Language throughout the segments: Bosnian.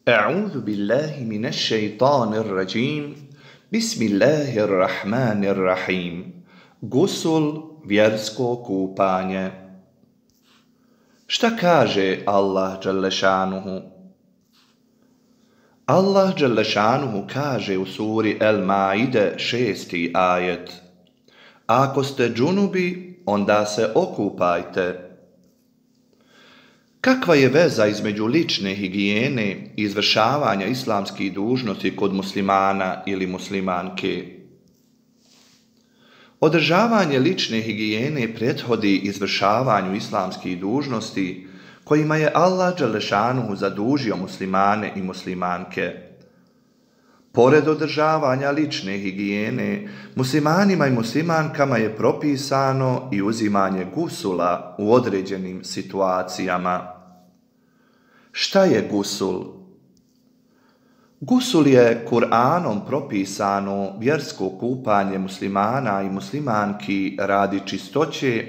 أعوذ بالله من الشيطان الرجيم بسم الله الرحمن الرحيم Gusul, vjersko kupanje. Šta kaže Allah Đelešanuhu? Allah Đelešanuhu kaže u suri El Maide 6. ajet: Ako ste džunubi, onda se okupajte. Kakva je veza između lične higijene i izvršavanja islamskih dužnosti kod muslimana ili muslimanke? Održavanje lične higijene prethodi izvršavanju islamskih dužnosti kojima je Allah Đelešanuhu zadužio muslimane i muslimanke. Pored održavanja lične higijene, muslimanima i muslimankama je propisano i uzimanje gusula u određenim situacijama. Šta je gusul? Gusul je Kur'anom propisano vjersko kupanje muslimana i muslimanki radi čistoće,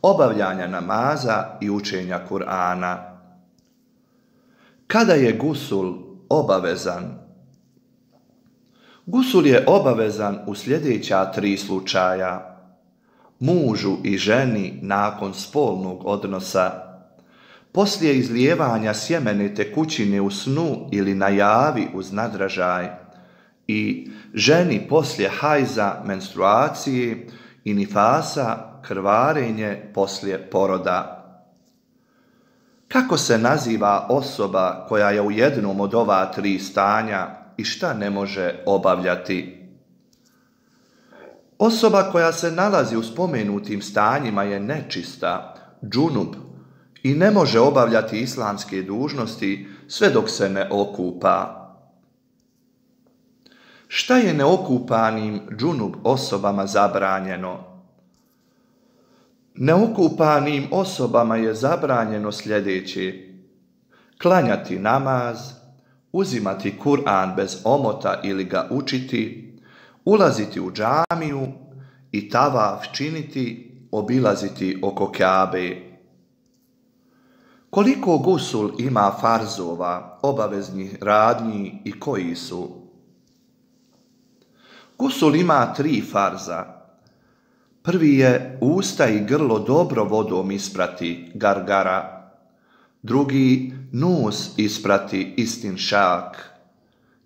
obavljanja namaza i učenja Kur'ana. Kada je gusul obavezan? Gusul je obavezan u sljedeća 3 slučaja: mužu i ženi nakon spolnog odnosa, poslije izlijevanja sjemene tekućine u snu ili na javi uz nadražaj i ženi poslije hajza, menstruacije i nifasa, krvarenje poslije poroda. Kako se naziva osoba koja je u jednom od ova 3 stanja i šta ne može obavljati? Osoba koja se nalazi u spomenutim stanjima je nečista, džunub, i ne može obavljati islamske dužnosti sve dok se ne okupa. Šta je neokupanim džunub osobama zabranjeno? Neokupanim osobama je zabranjeno sljedeće: klanjati namaz, uzimati Kur'an bez omota ili ga učiti, ulaziti u džamiju i tavaf činiti, obilaziti oko Kjabe. Koliko gusul ima farzova, obaveznih radnji i koji su? Gusul ima 3 farza. Prvi je usta i grlo dobro vodom isprati, gargara. Drugi, nos isprati, istinšak.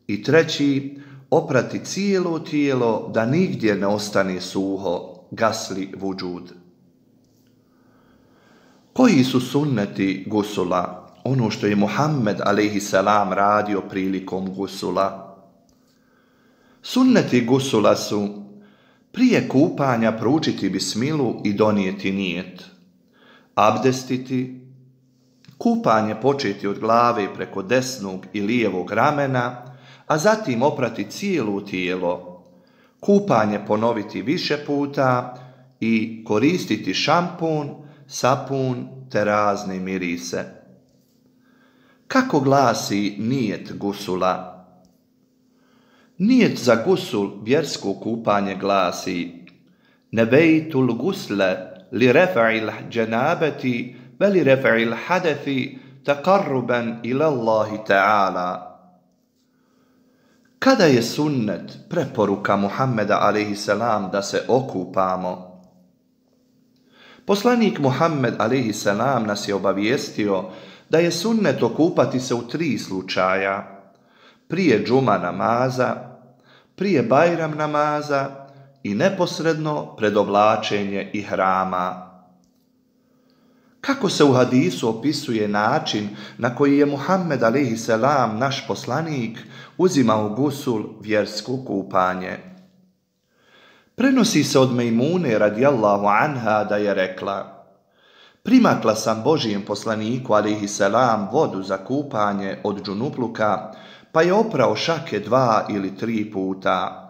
I treći, oprati cijelo tijelo da nigdje ne ostane suho, gasli vudžud. Koji su sunneti gusula, ono što je Muhammed a.s. radio prilikom gusula? Sunneti gusula su: prije kupanja proučiti bismilu i donijeti nijet, abdestiti, kupanje početi od glave preko desnog i lijevog ramena, a zatim oprati cijelo tijelo, kupanje ponoviti više puta i koristiti šampun, sapun te razne mirise. Kako glasi nijet gusula? Nijet za gusul, vjersko kupanje, glasi: nebejtul gusle li refa'il dženabeti ve li refa'il hadethi taqarruban ila Allahi ta'ala. Kada je sunnet, preporuka Muhammeda a.s. da se okupamo? Poslanik Muhammed a.s. nas je obavijestio da je sunnet okupati se u 3 slučaja: prije džuma namaza, prije bajram namaza i neposredno pred oblačenje ihrama. Kako se u hadisu opisuje način na koji je Muhammed a.s. naš poslanik uzimao gusul, vjersko kupanje? Prenosi se od Mejmune radijallahu anha da je rekla: primakla sam Božijem poslaniku a.s. vodu za kupanje od džunupluka, pa je oprao šake 2 ili 3 puta.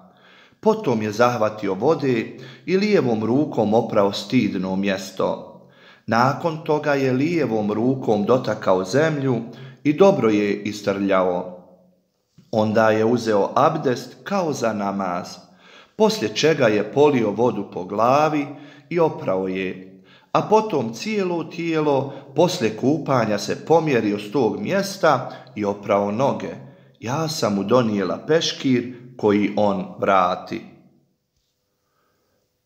Potom je zahvatio vode i lijevom rukom oprao stidno mjesto. Nakon toga je lijevom rukom dotakao zemlju i dobro je istrljao. Onda je uzeo abdest kao za namaz, poslije čega je polio vodu po glavi i oprao je, a potom cijelo tijelo poslije kupanja se pomjerio s tog mjesta i oprao noge. Ja sam mu donijela peškir koji on vrati.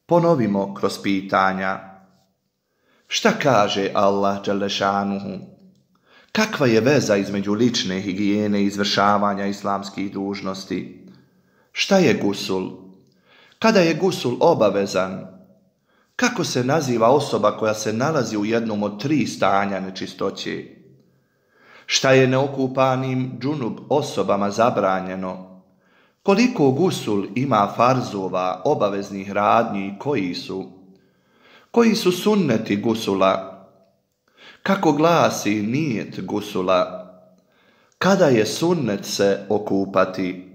Ponovimo kroz pitanja. Šta kaže Allah dželešanuhu? Kakva je veza između lične higijene i izvršavanja islamskih dužnosti? Šta je gusul? Kada je gusul obavezan? Kako se naziva osoba koja se nalazi u jednom od 3 stanja nečistoće? Šta je neokupanim džunub osobama zabranjeno? Koliko gusul ima farzova, obaveznih radnji i koji su? Koji su sunneti gusula? Kako glasi nijet gusula? Kada je sunnet se okupati?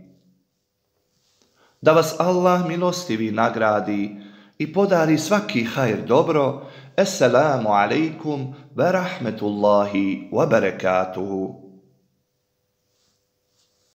Da vas Allah milostivi nagradi i podari svaki hajr dobro. Assalamu alaikum wa rahmetullahi wa barakatuhu.